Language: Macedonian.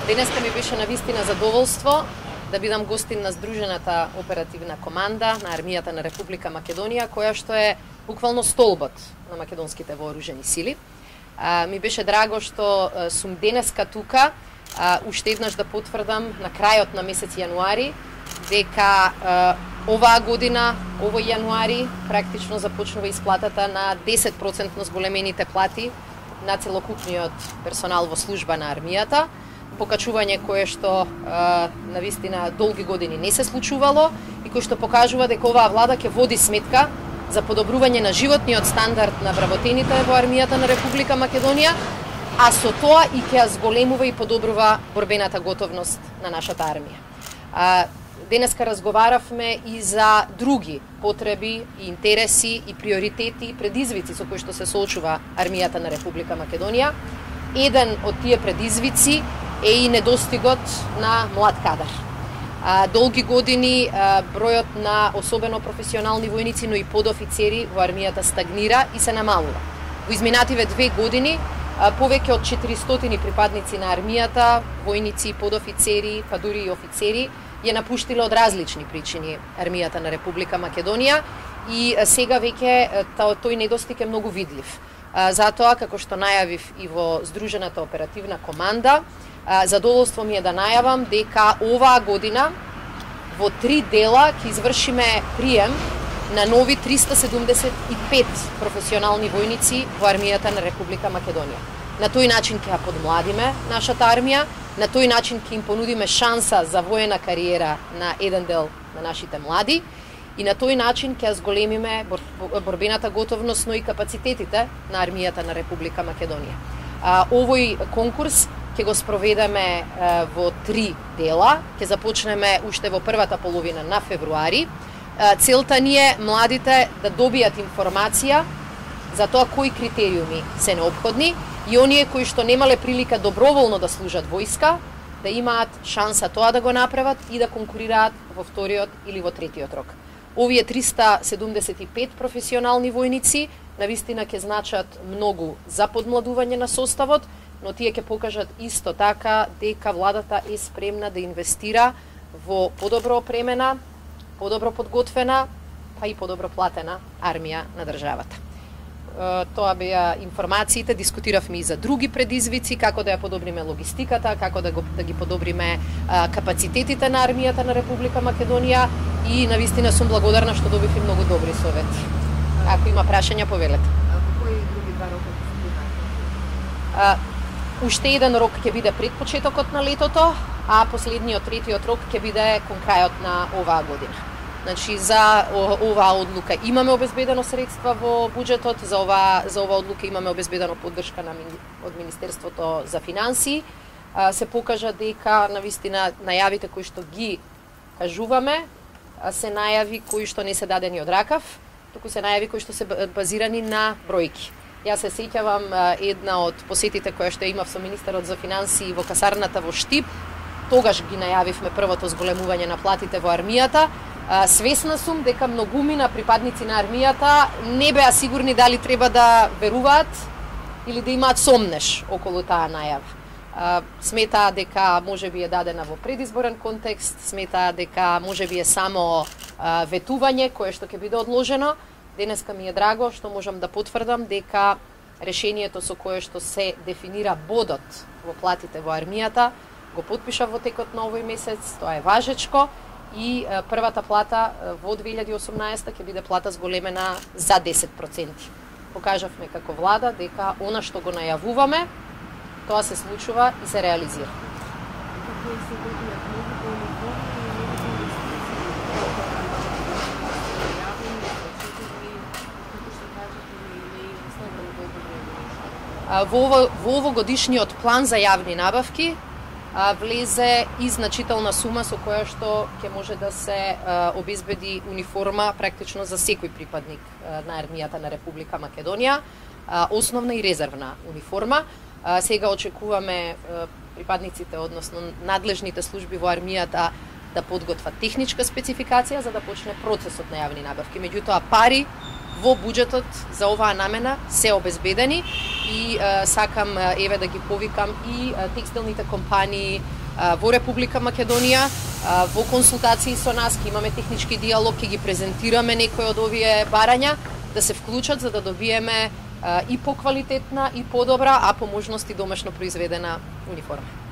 Денеска ми беше навистина задоволство да бидам гостин на Здружената оперативна команда на Армијата на Република Македонија, која што е буквално столбот на македонските вооружени сили. Ми беше драго што сум денеска тука, уште еднаш да потврдам на крајот на месец јануари дека оваа година, овој јануари, практично започнува исплатата на 10% зголемените плати на целокупниот персонал во служба на армијата, покачување кое што навистина долги години не се случувало и кое што покажува дека оваа влада ќе води сметка за подобрување на животниот стандард на вработените во армијата на Република Македонија, а со тоа и ќе зголемува и подобрува борбената готовност на нашата армија. Денеска разговаравме и за други потреби, и интереси, и приоритети, и предизвици со кои што се соочува армијата на Република Македонија. Еден од тие предизвици е и недостигот на млад кадар. Долги години бројот на особено професионални војници, но и подофицери во армијата стагнира и се намалува. Во изминативе 2 години повеќе од 400 припадници на армијата, војници, подофицери, па дури и офицери, ја напуштиле од различни причини армијата на Република Македонија и сега веќе тој недостиг е многу видлив. Затоа, како што најавив и во Здружената оперативна команда, задоволство ми е да најавам дека оваа година во 3 дела ќе извршиме прием на нови 375 професионални војници во армијата на Република Македонија. На тој начин ќе ја подмладиме нашата армија, на тој начин ќе им понудиме шанса за воена кариера на еден дел на нашите млади и на тој начин ќе зголемиме борбената готовност, но и капацитетите на армијата на Република Македонија. Овој конкурс ќе го спроведеме во 3 дела, ќе започнеме уште во првата половина на февруари. Целта ни е младите да добијат информација за тоа кои критериуми се неопходни и оние кои што немале прилика доброволно да служат војска, да имаат шанса тоа да го направат и да конкурираат во вториот или во третиот рок. Овие 375 професионални војници навистина ќе значат многу за подмладување на составот, но тие ќе покажат исто така дека владата е спремна да инвестира во подобро опремена, подобро подготвена, па и подобро платена армија на државата. Тоа беа информациите, дискутиравме и за други предизвици, како да ја подобриме логистиката, како да ги подобриме капацитетите на армијата на Република Македонија и навистина сум благодарна што добив и многу добри совети. Ако има прашања, повелете. Кои други 2 рока? Уште еден рок ќе биде пред почетокот на летото, а последниот, третиот рок ќе биде кон крајот на оваа година. Значи, за оваа одлука имаме обезбедено средства во буџетот, за оваа одлука имаме обезбедено поддршка од Министерството за финансии. Се покажа дека навистина најавите кои што ги кажуваме се најави кои што не се дадени од ракав, туку се најави кои што се базирани на бројки. Јас се сеќавам една од посетите која што имав со министерот за финансии во касарната во Штип. Тогаш ги најавивме првото зголемување на платите во армијата. Свесна сум дека многумина припадници на армијата не беа сигурни дали треба да веруваат или да имаат сомнеш околу таа најава. Сметаа дека можеби е дадена во предизборен контекст, сметаа дека можеби е само ветување кое што ќе биде одложено. Денеска ми е драго што можам да потврдам дека решението со кое што се дефинира бодот во платите во армијата го потпиша во текот на овој месец, тоа е важечко и првата плата во 2018 ќе биде плата зголемена за 10%. Покажавме како влада дека она што го најавуваме, тоа се случува и се реализира. Во овогодишниот план за јавни набавки влезе и значителна сума со која што ќе може да се обезбеди униформа практично за секој припадник на армијата на Република Македонија, основна и резервна униформа. Сега очекуваме припадниците, односно надлежните служби во армијата да подготват техничка спецификација за да почне процесот на јавни набавки. Меѓутоа пари во буџетот за оваа намена се обезбедени и сакам еве да ги повикам и текстилните компании во Република Македонија во консултации со нас, ќе имаме технички диалог, ќе ги презентираме некои од овие барања да се вклучат за да добиеме и поквалитетна и подобра, а по можности домашно произведена униформа.